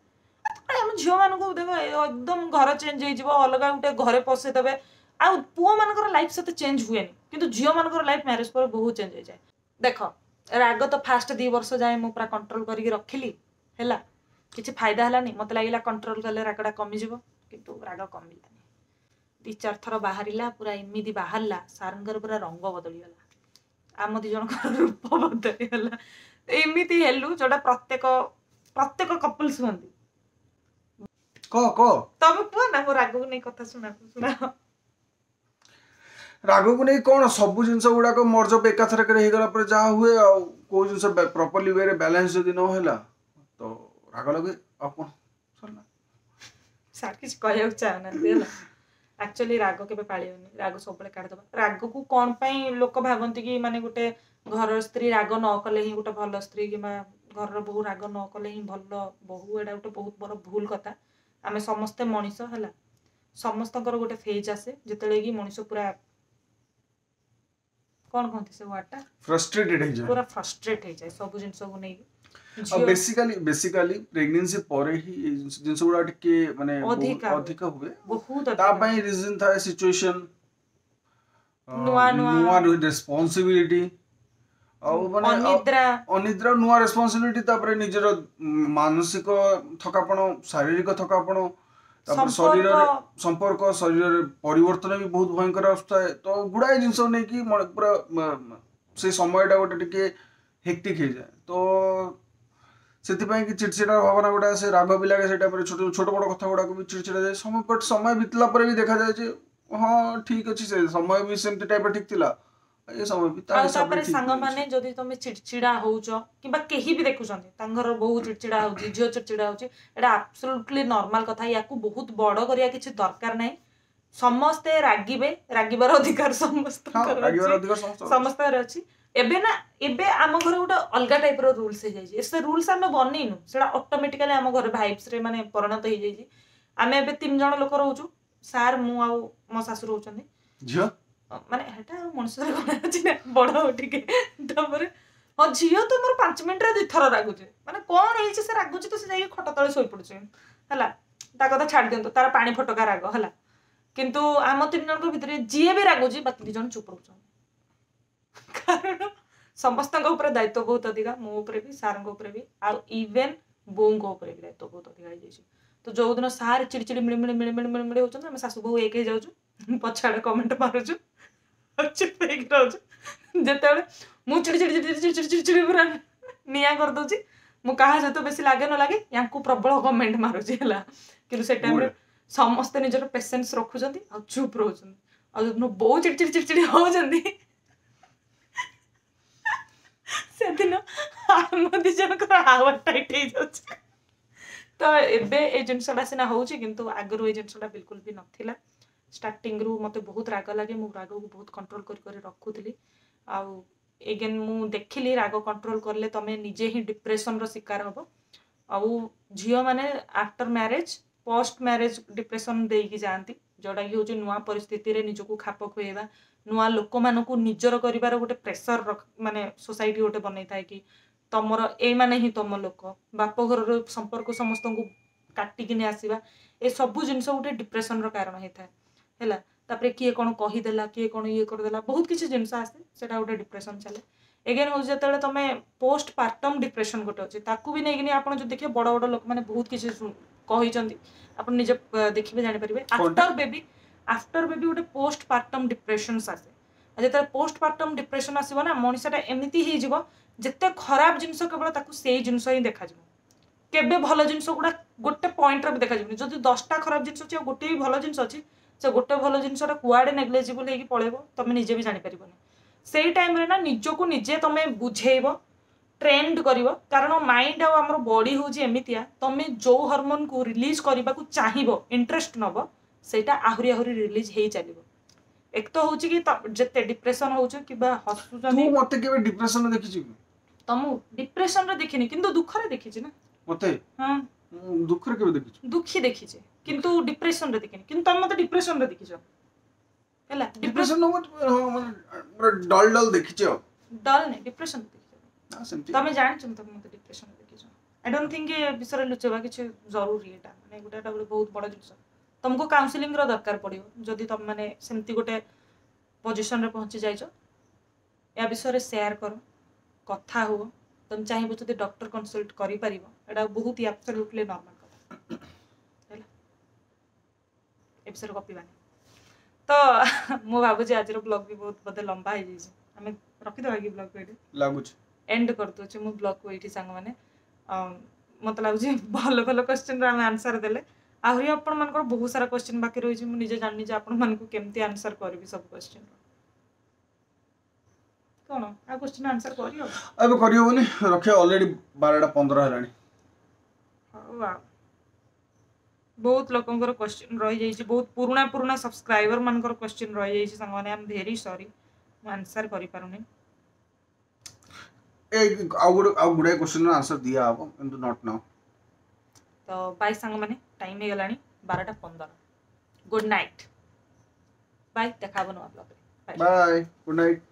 Speaker 1: ତାପରେ ଆମ ଝିଅମାନଙ୍କୁ ଦେଖ ଏକଦମ ଘର ଚେଞ୍ଜ ହେଇଯିବ ଅଲଗା ଗୋଟେ ଘରେ ପଶେଇଦେବେ ଆଉ ପୁଅମାନଙ୍କର ଲାଇଫ ସେତେ ଚେଞ୍ଜ ହୁଏନି କିନ୍ତୁ ଝିଅମାନଙ୍କର ଲାଇଫ ମ୍ୟାରେଜ ପରେ ବହୁତ ଚେଞ୍ଜ ହେଇଯାଏ ଦେଖ ରାଗ ତ ଫାଷ୍ଟ ଦି ବର୍ଷ ଯାଏଁ ମୁଁ ପୁରା କଣ୍ଟ୍ରୋଲ କରିକି ରଖିଲି ହେଲା କିଛି ଫାଇଦା ହେଲାନି ମତେ ଲାଗିଲା କଣ୍ଟ୍ରୋଲ କଲେ ରାଗଟା କମିଯିବ କିନ୍ତୁ ରାଗ କମିଲାନି ଦି ଚାରି ଥର ବାହାରିଲା ପୁରା ଏମିତି ବାହାରିଲା ସାରଙ୍କର ପୁରା ରଙ୍ଗ ବଦଳିଗଲା ଆମ ଦି ଜଣଙ୍କର ରୂପ ବଦଳିଗଲା ଏମିତି ହେଲୁ ଯୋଉଟା ପ୍ରତ୍ୟେକ ପ୍ରତ୍ୟେକ କପଲ୍ସ ହୁଅନ୍ତି
Speaker 2: କହ କହ
Speaker 1: ତମେ କୁହ ନା ମୋ ରାଗକୁ ନେଇ କଥା ଶୁଣା ଶୁଣା
Speaker 2: ରାଗକୁ ନେଇ କ'ଣ ସବୁ ଜିନିଷ ଗୁଡାକ ମର୍ଜଅପ୍ ଏକାଥରକରେ ହେଇଗଲା ପରେ ଯାହା ହୁଏ ଆଉ କୋଉ ଜିନିଷ ପ୍ରପରଲି ୱେରେ ବାଲାନ୍ସ ଯଦି ନ ହେଲା ତ ରାଗ ଲାଗେ ଆଉ କ'ଣ ସରିଲା
Speaker 1: ସାର୍ କିଛି କହିବାକୁ ଚାହୁଁନାହାନ୍ତି ହେଲା ଆକ୍ଚୁଆଲି ରାଗ କେବେ ପାଳିବନି ରାଗ ସବୁବେଳେ କାଢିଦବା ରାଗକୁ କ'ଣ ପାଇଁ ଲୋକ ଭାବନ୍ତି କି ମାନେ ଗୋଟେ ଘରର ସ୍ତ୍ରୀ ରାଗ ନ କଲେ ହିଁ ଗୋଟେ ଭଲ ସ୍ତ୍ରୀ କିମ୍ବା ଘରର ବୋହୂ ରାଗ ନ କଲେ ହିଁ ଭଲ ବୋହୂ ଏଇଟା ଗୋଟେ ବହୁତ ବଡ଼ ଭୁଲ କଥା ଆମେ ସମସ୍ତେ ମଣିଷ ହେଲା ସମସ୍ତଙ୍କର ଗୋଟେ ଫେଜ୍ ଆସେ ଯେତେବେଳେ କି ମଣିଷ ପୁରା କ'ଣ କହନ୍ତି ସେ ୱାର୍ଡଟା
Speaker 2: ଫ୍ରଷ୍ଟ୍ରେଟେଡ୍ ହେଇଯାଏ
Speaker 1: ପୁରା ଫ୍ରଷ୍ଟ୍ରେଟ୍ ହେଇଯାଏ ସବୁ ଜିନିଷକୁ ନେଇକି
Speaker 2: ଆଉ
Speaker 1: ଝିଅ
Speaker 2: ବେସିକାଲି ବେସିକାଲି ପ୍ରେଗନେନ୍ସି ପରେ ହିଁ ଏଇ ଜିନିଷ ଜିନିଷ ଗୁଡା ଟିକେ ମାନେ ବହୁତ
Speaker 1: ଅଧିକା ହୁଏ।
Speaker 2: ଅଧିକ ହୁଏ
Speaker 1: ବହୁତ
Speaker 2: ତା
Speaker 1: ଅଧିକା
Speaker 2: ପାଇଁ ରିଜନ ଥାଏ ସିଚୁଏସନ
Speaker 1: ନୂଆ ନୂଆ
Speaker 2: ନୂଆ ରେସ୍ପନ୍ସିବିଲିଟି ଆଉ ମାନେ ଆଉ
Speaker 1: ଅନିଦ୍ରା
Speaker 2: ଅନିଦ୍ରା ନୂଆ ରେସ୍ପନ୍ସିବିଲିଟି ତାପରେ ନିଜର ମାନସିକ ଥକାପଣ ଶାରୀରିକ ଥକାପଣ ତାପରେ ଶରୀରରେ
Speaker 1: ସମ୍ପର୍କ
Speaker 2: ସମ୍ପର୍କ ଶରୀରରେ ପରିବର୍ତ୍ତନ ବି ବହୁତ ଭୟଙ୍କର ଆସୁଥାଏ ତ ଗୁଡାଏ ଜିନିଷ ନେଇକି ମ- ପୁରା ମ, ସେ ସମୟଟା ଗୋଟେ ଟିକେ ହେକ୍ଟିକ୍ ହେଇଯାଏ ତ ସେଥିପାଇଁ କି ଚିଡ଼ଚିଡ଼ା ଭାବନା ଗୋଟେ ଆସେ ରାଗ ବି ଲାଗେ ସେ ଟାଇମରେ ଛୋଟ ଛୋଟ ବଡ଼ କଥା ଗୁଡାକ ବି ଚିଡ଼ଚିଡ଼ା ଯାଏ ସମୟ ବଟ୍ ସମୟ ବିତିଲା ପରେ ବି ଦେଖାଯାଏ ଯେ ହଁ ଠିକ ଅଛି ସେ ସମୟ ବି ସେମିତି ଟାଇପର ଠିକ ଥିଲା ଏ ସମୟ ବି ତା
Speaker 1: ଆଉ
Speaker 2: ହିସାବରେ
Speaker 1: ତାପରେ
Speaker 2: ଠିକ ବି ଅଛି
Speaker 1: ସାଙ୍ଗମାନେ ଯଦି ତମେ ଚିଡ଼ଚିଡ଼ା ହଉଛ କିମ୍ବା କେହି ବି ଦେଖୁଛନ୍ତି ତାଙ୍କ ଘର ବୋହୂ ଚିଡ଼ଚିଡ଼ା ହଉଛି ଝିଅ ଚିଡ଼ଚିଡ଼ା ହଉଛି ଏଇଟା ଆବସୋଲ୍ୟୁଟଲି ନର୍ମାଲ କଥା ୟାକୁ ବହୁତ ବଡ କରିବା କିଛି ଦରକାର ନାହିଁ ସମସ୍ତେ ରାଗିବେ ରାଗିବାର ଅଧିକାର
Speaker 2: ହଁ
Speaker 1: ସମସ୍ତଙ୍କର
Speaker 2: ରାଗିବାର
Speaker 1: ଅଛି
Speaker 2: ଅଧିକାର ସମସ୍ତଙ୍କର ଅଛି
Speaker 1: ସମସ୍ତଙ୍କର ଅଛି ଏବେ ନା ଏବେ ଆମ ଘରେ ଗୋଟେ ଅଲଗା ଟାଇପର ରୁଲ୍ସ ହେଇଯାଇଛି ସେ ରୁଲ୍ସ ଆମେ ବନେଇନୁ ସେଟା ଅଟୋମେଟିକାଲି ଆମ ଘରେ ଭାଇବ୍ସରେ ମାନେ ପରିଣତ ହେଇଯାଇଛି ଆମେ ଏବେ ତିନି ଜଣ ଲୋକ ରହୁଛୁ ସାର୍ ମୁଁ ଆଉ ମୋ ଶାଶୁ ରହୁଛନ୍ତି
Speaker 2: ଝିଅ
Speaker 1: ମାନେ ହେଟା ଆଉ ମଣିଷରେ କଣ ଅଛି ନା ବଡ ହଉ ଟିକେ ତାପରେ ହଁ ଝିଅ ତ ମୋର ପାଞ୍ଚ ମିନିଟରେ ଦିଥର ରାଗୁଛି ମାନେ କଣ ହେଇଛି ସେ ରାଗୁଛି ତ ସେ ଯାଇକି ଖଟ ତଳେ ଶୋଇପଡୁଛି ହେଲା ତା କଥା ଛାଡି ଦିଅନ୍ତୁ ତାର ପାଣି ଫଟକା ରାଗ ହେଲା କିନ୍ତୁ ଆମ ତିନି ଜଣଙ୍କ ଭିତରେ ଯିଏ ବି ରାଗୁଛି ବାକି ଦି ଜଣ ଚୁପ୍ ରହୁଛନ୍ତି କାରଣ ସମସ୍ତଙ୍କ ଉପରେ ଦାୟିତ୍ୱ ବହୁତ ଅଧିକା ମୋ ଉପରେ ବି ସାର୍ଙ୍କ ଉପରେ ବି ଆଉ ଇଭେନ୍ ବୋଉଙ୍କ ଉପରେ ବି ଦାୟିତ୍ୱ ବହୁତ ଅଧିକା ହେଇଯାଇଛି ତ ଯୋଉଦିନ ସାର୍ ଚିଡ଼ିଚିଡ଼ି ମିଳିମିଳି ମିଳିମିଳି ମିଳିମିଳି ହଉଛନ୍ତି ଆମେ ଶାଶୁ ବୋହୂ ଏକ ହେଇଯାଉଛୁ ପଛଆଡ଼େ କମେଣ୍ଟ ମାରୁଛୁ ଆଉ ଚୁପ୍ ହେଇକି ରହୁଛୁ ଯେତେବେଳେ ମୁଁ ଚିଡ଼ି ଚିଡ଼ି ଚିଡ଼ି ଚିଡ଼ି ଚିଡ଼ି ଚିଡ଼ି ଚିଡ଼ି ପୁରା ନିଆଁ କରିଦଉଛି ମୁଁ କାହା ସହିତ ବେଶୀ ଲାଗେ ନ ଲାଗେ ୟାଙ୍କୁ ପ୍ରବଳ କମେଣ୍ଟ ମାରୁଛି ହେଲା କିନ୍ତୁ ସେ ଟାଇମରେ
Speaker 2: ଗୁଡ୍
Speaker 1: ସମସ୍ତେ ନିଜର ପେସେନ୍ସ ରଖୁଛନ୍ତି ଆଉ ଚୁପ୍ ରହୁଛନ୍ତି ଆଉ ଯୋଉଦିନ ବୋଉ ଚିଡ଼ି ଚିଡ଼ି ଚିଡ଼ି ଚିଡ଼ି ହଉଛନ୍ତି ସେଦିନ ଆମ ଦି ଜଣଙ୍କର ହାୱା ଟାଇଟ୍ ହେଇଯାଉଛି ତ ଏବେ ଏଇ ଜିନିଷଟା ସିନା ହଉଛି କିନ୍ତୁ ଆଗରୁ ଏଇ ଜିନିଷଟା ବିଲକୁଲ ବି ନଥିଲା ଷ୍ଟାର୍ଟିଂରୁ ମୋତେ ବହୁତ ରାଗ ଲାଗେ ମୁଁ ରାଗକୁ ବହୁତ କଣ୍ଟ୍ରୋଲ କରି କରି ରଖୁଥିଲି ଆଉ ଏଗେନ୍ ମୁଁ ଦେଖିଲି ରାଗ କଣ୍ଟ୍ରୋଲ କଲେ ତମେ ନିଜେ ହିଁ ଡିପ୍ରେସନର ଶିକାର ହବ ଆଉ ଝିଅମାନେ after marriage post marriage depression ଦେଇକି ଯାଆନ୍ତି ଯୋଉଟାକି ହେଉଛି ନୂଆ ପରିସ୍ଥିତିରେ ନିଜକୁ ଖାପ ଖୁଆଇବା ନୂଆ ଲୋକମାନଙ୍କୁ ନିଜର କରିବାର ଗୋଟେ ପ୍ରେସର ମାନେ ସୋସାଇଟି ଗୋଟେ ବନେଇଥାଏ କି ତମର ଏଇମାନେ ହିଁ ତମ ଲୋକ ବାପ ଘରର ସମ୍ପର୍କ ସମସ୍ତଙ୍କୁ କାଟିକିନି ଆସିବା ଏ ସବୁ ଜିନିଷ ଗୋଟେ ଡିପ୍ରେସନର କାରଣ ହେଇଥାଏ ହେଲା ତାପରେ କିଏ କ'ଣ କହିଦେଲା କିଏ କ'ଣ ଇଏ କରିଦେଲା ବହୁତ କିଛି ଜିନିଷ ଆସେ ସେଇଟା ଗୋଟେ ଡିପ୍ରେସନ ଚାଲେ ଏଗେନ୍ ହେଉଛି ଯେତେବେଳେ ତମେ ପୋଷ୍ଟ ପାର୍ଟମ୍ ଡିପ୍ରେସନ ଗୋଟେ ଅଛି ତାକୁ ବି ନେଇକିନି ଆପଣ ଯଦି ଦେଖିବେ ବଡ଼ ବଡ଼ ଲୋକମାନେ ବହୁତ କିଛି ଶୁ- କହିଛନ୍ତି ଆପଣ ନିଜେ ଅ, ଦେଖିବେ ଜାଣିପାରିବେ
Speaker 2: କଣଟା
Speaker 1: ଆଫ୍ଟର ବେବି ଆଫ୍ଟର ବେବି ଗୋଟେ ପୋଷ୍ଟ ପାର୍ଟମ୍ ଡିପ୍ରେସନ୍ସ ଆସେ ଆଉ ଯେତେବେଳେ ପୋଷ୍ଟ ପାର୍ଟମ୍ ଡିପ୍ରେସନ ଆସିବ ନା ମଣିଷଟା ଏମିତି ହେଇଯିବ ଯେତେ ଖରାପ ଜିନିଷ କେବଳ ତାକୁ ସେଇ ଜିନିଷ ହିଁ ଦେଖାଯିବ କେବେ ଭଲ ଜିନିଷ ଗୁଡ଼ା ଗୋଟେ ପଏଣ୍ଟରେ ବି ଦେଖାଯିବନି ଯଦି ଦଶଟା ଖରାପ ଜିନିଷ ଅଛି ଆଉ ଗୋଟେ ବି ଭଲ ଜିନିଷ ଅଛି ସେ ଗୋଟେ ଭଲ ଜିନିଷଟା କୁଆଡ଼େ ନେଗ୍ଲେଜିବଲ୍ ହେଇକି ପଳେଇବ ତମେ ନିଜେ ବି ଜାଣିପାରିବନି ସେଇ ଟାଇମରେ ନା ନିଜକୁ ନିଜେ ତମେ ବୁଝେଇବ ଟ୍ରେଣ୍ଡ କରିବ କାରଣ ମାଇଣ୍ଡ ଆଉ ଆମର ବଡି ହେଉଛି ଏମିତିଆ ତମେ ଯୋଉ ହରମୋନକୁ ରିଲିଜ କରିବାକୁ ଚାହିଁବ ଇଣ୍ଟରେଷ୍ଟ ନବ ସେଇଟା ଆହୁରି ଆହୁରି ରିଲିଜ ହେଇ ଚାଲିବ ଏକ ତ ହଉଛି କି ତ- ଯେତେ ଡିପ୍ରେସନ ହଉଛି କିମ୍ବା
Speaker 2: ତୁ
Speaker 1: ହସୁଛନ୍ତି
Speaker 2: ମତେ କେବେ ଡିପ୍ରେସନ ଦେଖିଛୁ କି
Speaker 1: ତମକୁ ଡିପ୍ରେସନରେ ଦେଖିନି କିନ୍ତୁ ଦୁଃଖରେ ଦେଖିଛି ନା
Speaker 2: ମତେ
Speaker 1: ହଁ
Speaker 2: ମୁଁ ଦୁଃଖରେ କେବେ ଦେଖିଛୁ
Speaker 1: ଦୁଃଖୀ ଦେଖିଛି କିନ୍ତୁ ଡିପ୍ରେସନରେ ଦେଖିନି କିନ୍ତୁ ତମେ ମତେ ଡିପ୍ରେସନରେ ଦେଖିଛ ହେଲା ଡିପ୍ରେସନ
Speaker 2: ଡିପ୍ରେସନ ହଁ ମାନେ ପୁରା ଡଲ ଡଲ ଦେଖିଛି ଆଉ
Speaker 1: ଡଲ୍ ନାଇଁ ଡିପ୍ରେସନ ଦେଖିଛ
Speaker 2: ନା ସେମିତି
Speaker 1: ତମେ ଜାଣିଛ ତମେ ମତେ ଡିପ୍ରେସନ ଦେଖିଛ I don't think ଏ ବିଷୟରେ ଲୁଚେଇବା କିଛି ଜରୁରୀ ଏଇଟା ମାନେ ଗୋଟେ ଏଟା ଗୋଟେ ବହୁତ ବଡ଼ ଜିନିଷ ତମକୁ କାଉନସିଲିଂର ଦରକାର ପଡ଼ିବ ଯଦି ତମେ ମାନେ ସେମିତି ଗୋଟେ ପୋଜିସନରେ ପହଞ୍ଚି ଯାଇଛ ୟା ବିଷୟରେ ସେୟାର କର କଥା ହୁଅ ତମେ ଚାହିଁବ ଯଦି ଡକ୍ଟର କନସଲ୍ଟ କରିପାରିବ ଏଇଟା ବହୁତ ହି ଆବସଲ୍ୟୁଟଲି ନର୍ମାଲ କଥା ହେଲା ଏ ବିଷୟରେ ଗପିବାନି ତ ମୁଁ ଭାବୁଛି ଆଜିର ବ୍ଲଗ୍ ବି ବହୁତ ବୋଧେ ଲମ୍ବା ହେଇଯାଇଛି ଆମେ ରଖିଦେବା କି ବ୍ଲଗ୍ ଏଇଠି
Speaker 2: ଲାଗୁଛି
Speaker 1: ଏଣ୍ଡ କରିଦେଉଛି ମୁଁ ବ୍ଲଗ୍କୁ ଏଇଠି ସାଙ୍ଗମାନେ ଅମ୍, ମତେ ଲାଗୁଛି ଭଲ ଭଲ କ୍ୱେଶ୍ଚିନ୍ର ଆମେ ଆନ୍ସର୍ ଦେଲେ ଆହୁରି ଆପଣମାନଙ୍କର ବହୁତ ସାରା କ୍ୱେଶ୍ଚିନ୍ ବାକି ରହିଛି ମୁଁ ନିଜେ ଜାଣିନି ଯେ ଆପଣମାନଙ୍କୁ କେମିତି ଆନ୍ସର୍ କରିବି ସବୁ କ୍ୱେଶ୍ଚିନ୍ର କ'ଣ ଆଉ କ୍ୱେଶ୍ଚିନ୍ ଆନ୍ସର କରିହବ
Speaker 2: ଏବେ କରିହେବନି ରଖିବା ଅଲରେଡି ବାରଟା ପନ୍ଦର ହେଲାଣି
Speaker 1: ହଉ ଆଉ ବହୁତ ଲୋକଙ୍କର କ୍ୱେଶ୍ଚିନ୍ ରହିଯାଇଛି ବହୁତ ପୁରୁଣା ପୁରୁଣା ସବସ୍କ୍ରାଇବର ମାନଙ୍କର କ୍ୱେଶ୍ଚିନ୍ ରହିଯାଇଛି ସାଙ୍ଗମାନେ I am very sorry ମୁଁ ଆନ୍ସର କରିପାରୁନି
Speaker 2: ଏ ଆଉ ଗୋଟେ ଆଉ ଗୁଡ଼ାଏ କ୍ୱେଶ୍ଚିନ୍ର ଆନ୍ସର ଦିଆହବ କିନ୍ତୁ not ନାଉ
Speaker 1: ତ ବାଇ ସାଙ୍ଗମାନେ ଟାଇମ୍ ହେଇଗଲାଣି ବାରଟା ପନ୍ଦର ଗୁଡ୍ ନାଇଟ୍ ବାଇ ଦେଖା ହବ ନୂଆ ବ୍ଲଗ୍ରେ
Speaker 2: ବାଏ ଗୁଡ୍ ନାଇଟ୍